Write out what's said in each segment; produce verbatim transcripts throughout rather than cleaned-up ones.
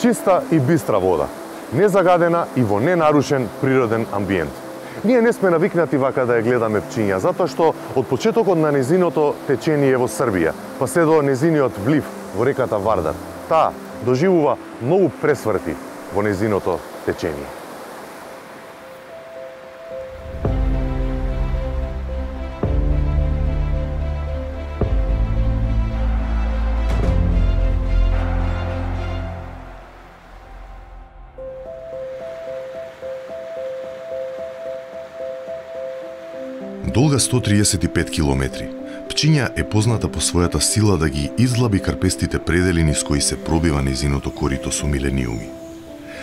Чиста и бистра вода, незагадена и во ненарушен природен амбиент. Ние не сме навикнати вака да ја гледаме Пчиња, затоа што од почетокот на незиното течение во Србија, па се до незиниот влив во реката Вардар, таа доживува многу пресврти во незиното течение. Долга сто триесет и пет километри, Пчиња е позната по својата сила да ги издлаби карпестите предели низ кои се пробива незиното корито со милениуми.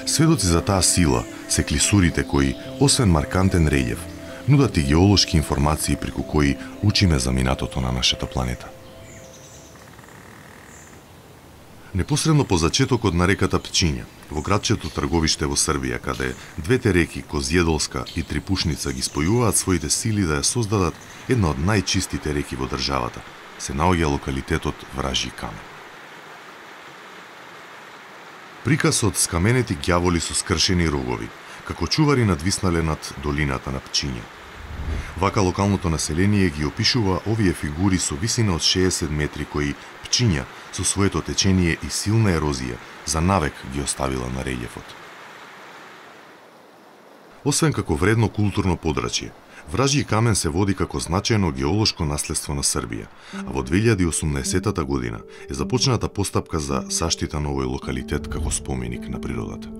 Сведоци за таа сила се клисурите кои, освен маркантен релјеф, нудат и геолошки информации преку кои учиме за минатото на нашата планета. Непосредно по зачетокот на реката Пчиња, во градчето Трговиште во Србија, каде двете реки Козједолска и Трипушница ги спојуваат своите сили да ја создадат една од најчистите реки во државата, се наоѓа локалитетот Вражји камен. Приказ од скаменети ѓаволи со скршени рогови, како чувари надвиснале над долината на Пчиња. Вака локалното население ги опишува овие фигури со висина од шеесет метри кои Пчиња со своето течение и силна ерозија за навек ги оставила на релјефот. Освен како вредно културно подрачје, Вражји камен се води како значајно геолошко наследство на Србија, а во две илјади и осумнаесетта година е започната постапка за заштита на овој локалитет како споменик на природата.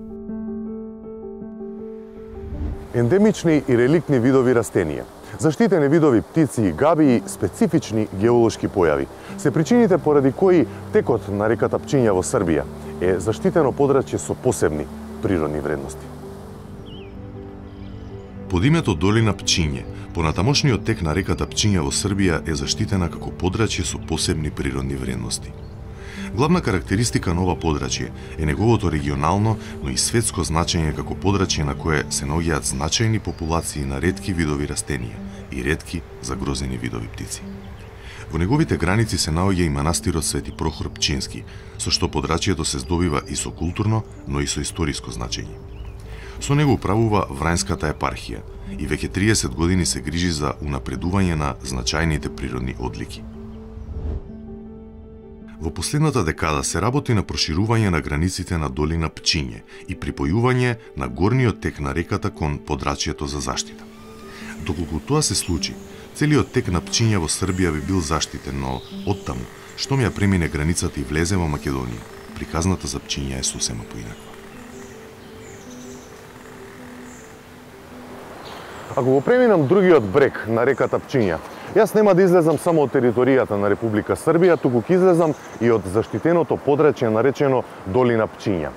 Ендемични и реликтни видови растенија, заштитени видови птици и габи и специфични геолошки појави се причините поради кои текот на реката Пчиња во Србија е заштитено подрачје со посебни природни вредности. Под името Долина Пчиње, понатамошниот тек на реката Пчиња во Србија е заштитена како подрачје со посебни природни вредности. Главна карактеристика на ова подрачје е неговото регионално, но и светско значење како подрачје на кое се наоѓаат значајни популации на ретки видови растенија и ретки загрозени видови птици. Во неговите граници се наоѓа и манастирот Свети Прохор Пчински, со што подрачјето се здобива и со културно, но и со историско значење. Со него управува Врањската епархија и веќе триесет години се грижи за унапредување на значајните природни одлики. Во последната декада се работи на проширување на границите на Долина Пчиње и припојување на горниот тек на реката кон подрачјето за заштита. Доколку тоа се случи, целиот тек на Пчиња во Србија би бил заштитен, но оттаму, штом ја премине границата и влезе во Македонија, приказната за Пчиња е сосема поинаква. Ако го преминам другиот брег на реката Пчиња, јас нема да излезам само од територијата на Република Србија, туку ќе излезам и од заштитеното подрачје наречено Долина Пчиња.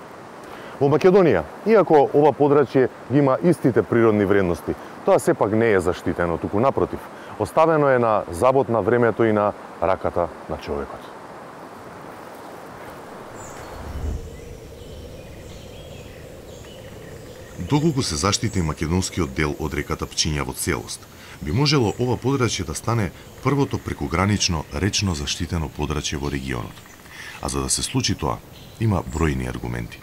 Во Македонија, иако ова подрачје има истите природни вредности, тоа сепак не е заштитено, туку напротив, оставено е на забот на времето и на раката на човекот. Доколку се заштити македонскиот дел од реката Пчиња во целост, би можело ова подрачје да стане првото прекогранично речно заштитено подрачје во регионот. А за да се случи тоа, има бројни аргументи.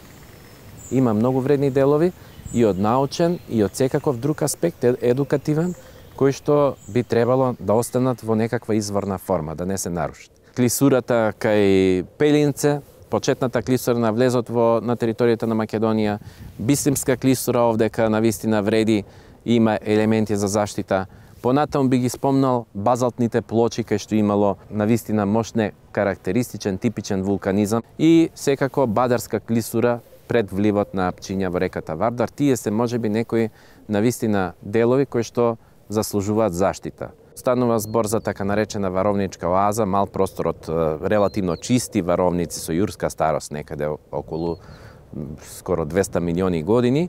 Има многу вредни делови и од научен и од секаков друг аспект, едукативен, кои што би требало да останат во некаква изворна форма, да не се нарушат. Клисурата кај Пелинце, почетната клисура на влезот во на територијата на Македонија, Бисимска клисура овдека навистина вреди и има елементи за заштита. Понатаму би ги спомнал базалтните плочи кај што имало навистина мощне карактеристичен типичен вулканизам и секако Бадарска клисура пред вливот на Пчиња во реката Вардар. Тие се можеби некои навистина делови кои што заслужуваат заштита. Станува збор за така наречена варовничка оаза, мал простор од релативно чисти варовници со јурска старост, некаде околу скоро двесте милиони години.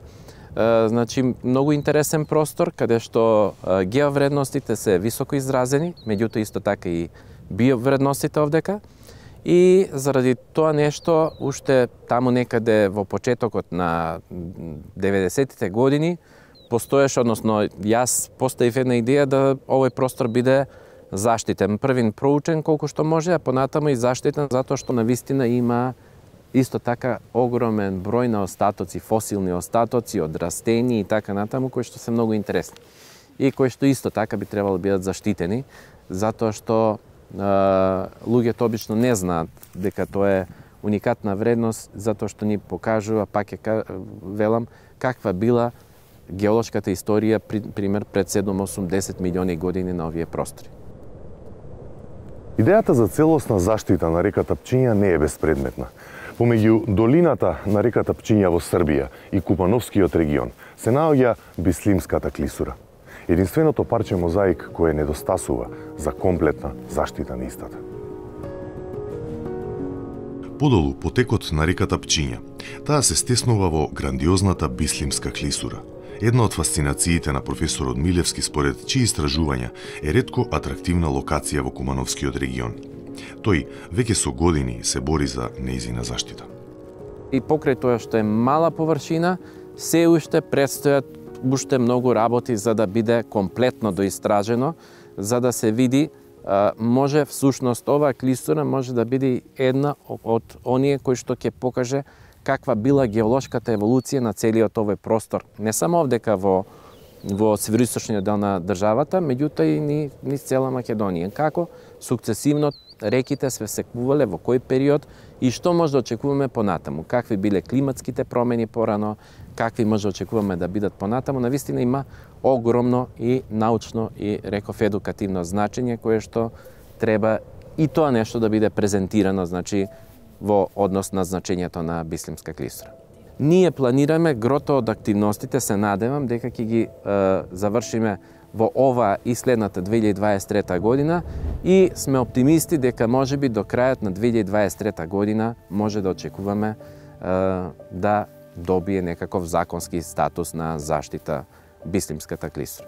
Значи, многу интересен простор, каде што геовредностите се високо изразени, меѓуто исто така и биовредностите овдека. И заради тоа нешто, уште таму некаде во почетокот на деветдесеттите години, постоеше, односно, јас поставив една идеја да овој простор биде заштитен. Првин проучен колку што може, а понатаму и заштитен затоа што навистина има исто така огромен број на остатоци, фосилни остатоци од растени и така натаму, кои што се многу интересни. И кои што исто така би требало да бидат заштитени, затоа што е, луѓето обично не знаат дека тоа е уникатна вредност, затоа што ни покажува, пак е велам, каква била геолошката историја, пример, пред седум осум десет милиони години на овие простори. Идејата за целосна заштита на реката Пчиња не е безпредметна. Помеѓу долината на реката Пчиња во Србија и Купановскиот регион се наоѓа Бислимската клисура. Единственото парче мозаик кое недостасува за комплетна заштита на истата. Подолу, потекот на реката Пчиња, таа се стеснува во грандиозната Бислимска клисура. Една од фасцинациите на професорот Милевски, според чии истражувања е ретко атрактивна локација во Кумановскиот регион. Тој веќе со години се бори за нејзина заштита. И покрај тоа што е мала површина, се уште предстојат уште многу работи за да биде комплетно доистражено, за да се види може всушност оваа клисура може да биде една од оние кои што ќе покаже каква била геолошката еволуција на целиот овој простор. Не само овдека во во североисточниот дел на државата, меѓутоа и ни низ цела Македонија. Како сукцесивно реките се секувале, во кој период и што може да очекуваме понатаму, какви биле климатските промени порано, какви може да очекуваме да бидат понатаму. Навистина има огромно и научно и реков едукативно значење кое што треба и тоа нешто да биде презентирано, значи во однос на значењето на Бислимска клисура. Ние планираме грото од активностите, се надевам дека ќе ги е, завршиме во ова и следната две илјади дваесет и трета година и сме оптимисти дека можеби до крајот на две илјади дваесет и трета година може да очекуваме е, да добие некаков законски статус на заштита Бислимската клисура.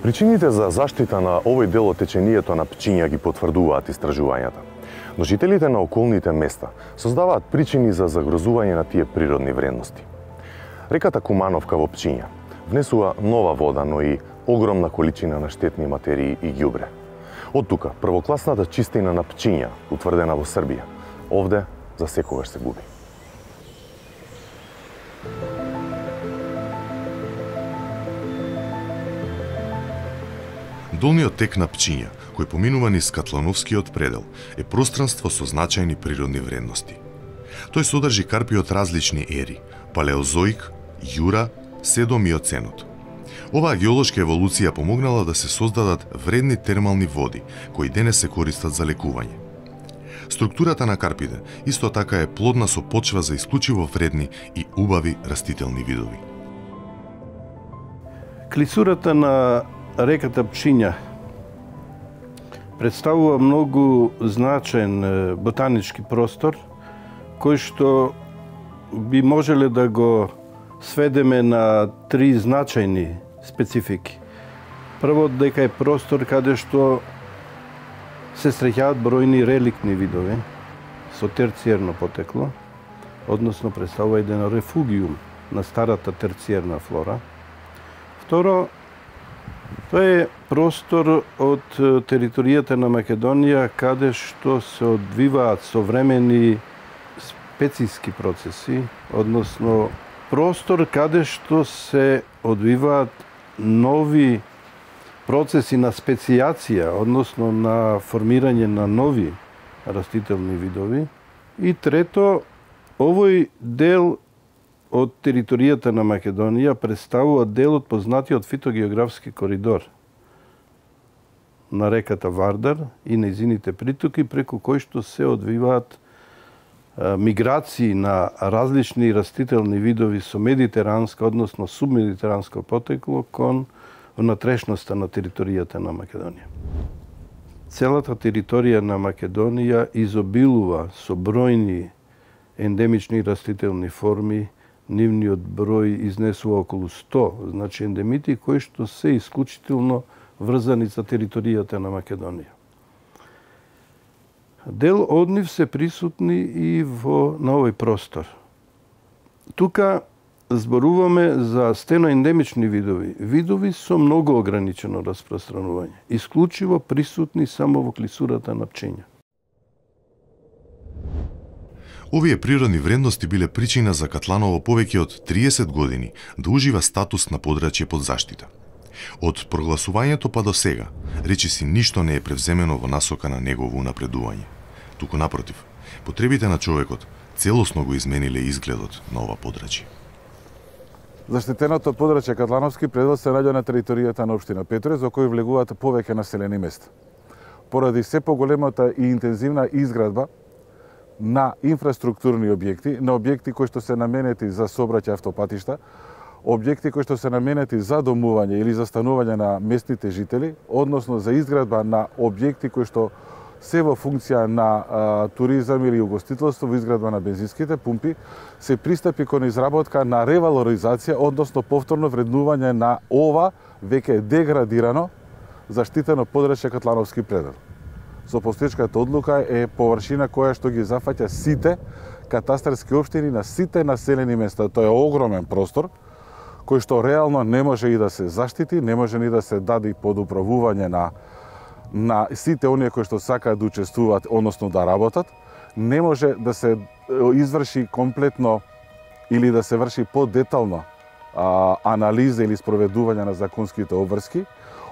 Причините за заштита на овој дел од течението на Пчиња ги потврдуваат истражувањата. Но жителите на околните места создаваат причини за загрозување на тие природни вредности. Реката Кумановка во Пчиња внесува нова вода, но и огромна количина на штетни материи и ѓубре. Од тука, првокласната чистина на Пчиња, утврдена во Србија, овде за секогаш се губи. Долниот тек на Пчиња, кој поминува низ Катлановскиот предел, е пространство со значајни природни вредности. Тој содржи карпи од различни ери – палеозоик, јура, седом и оценот. Оваа геолошка еволуција помогнала да се создадат вредни термални води, кои денес се користат за лекување. Структурата на карпите исто така е плодна со почва за исклучиво вредни и убави растителни видови. Клисурата на реката Пчиња представува многу значаен ботанички простор, кој што би можеле да го сведеме на три значајни специфики. Прво, дека е простор каде што се среќаат бројни реликтни видови со терциерно потекло, односно представува еден рефугиум на старата терциерна флора. Второ, тоа е простор од територијата на Македонија каде што се одвиваат современи специјски процеси, односно простор каде што се одвиваат нови процеси на специјација, односно на формирање на нови растителни видови. И трето, овој дел од територијата на Македонија представува дел од познатиот фитогеографски коридор на реката Вардар и нејзините притоки, преку кои што се одвиваат миграции на различни растителни видови со медитеранска, односно субмедитеранско потекло кон внатрешноста на територијата на Македонија. Целата територија на Македонија изобилува со бројни ендемични растителни форми нивниот број изнесува околу сто, значи ендемити кои што се исклучително врзани за територијата на Македонија. Дел од нив се присутни и во на овој простор. Тука зборуваме за стеноендемични видови, видови со многу ограничено распространување, исклучиво присутни само во клисурата на пчиња. Овие природни вредности биле причина за Катланово повеќе од триесет години да ужива статус на подрачје под заштита. Од прогласувањето па до сега, речиси ништо не е превземено во насока на негово унапредување. Туку напротив, потребите на човекот целосно го измениле изгледот на ова подрачје. Заштитеното подрачје Катлановски предел се наоѓа на територијата на општина Петроје, за кој влегуваат повеќе населени места. Поради се поголемата и интензивна изградба на инфраструктурни објекти, на објекти кои што се наменети за сообраќај автопатишта, објекти кои што се наменети за домување или за станување на местните жители, односно за изградба на објекти кои што се во функција на а, туризам или угостителство, во изградба на бензинските пумпи, се пристапи кон изработка на ревалоризација, односно повторно вреднување на ова веќе деградирано заштитено подрачје Катлановски предел. Со постоечката одлука е површина која што ги зафаќа сите катастарски општини на сите населени места. Тоа е огромен простор кој што реално не може и да се заштити, не може ни да се даде и под управување на на сите оние кои што сакаат да учествуваат, односно да работат, не може да се изврши комплетно или да се врши подетално а, анализа или спроведување на законските обврски.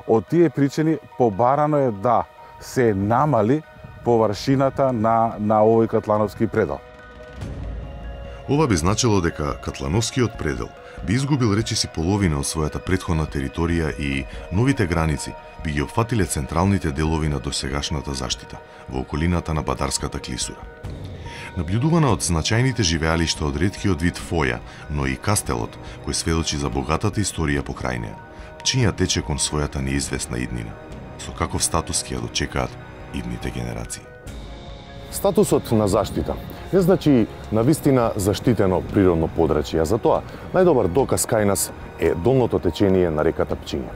Од тие причини побарано е да се намали површината на, на овој Катлановски предел. Ова би значило дека Катлановскиот предел би изгубил речиси половина од својата претходна територија и новите граници би ги опфатиле централните делови на досегашната заштита во околината на Бадарската клисура. Наблюдувана од значајните живеалишта од реткиот вид фоја, но и кастелот, кој сведочи за богатата историја покрај неа, пчиња тече кон својата неизвестна иднина. Со каков статус ќе ја дочекаат идните генерации? Статусот на заштита не значи навистина заштитено природно подрачје, а за тоа најдобар доказ кај нас е долното течение на реката Пчиња.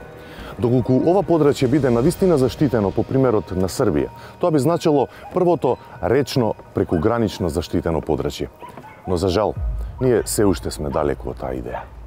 Доколку ова подрачје биде навистина заштитено по примерот на Србија, тоа би значило првото речно прекугранично заштитено подрачје. Но за жал, ние се уште сме далеку од таа идеја.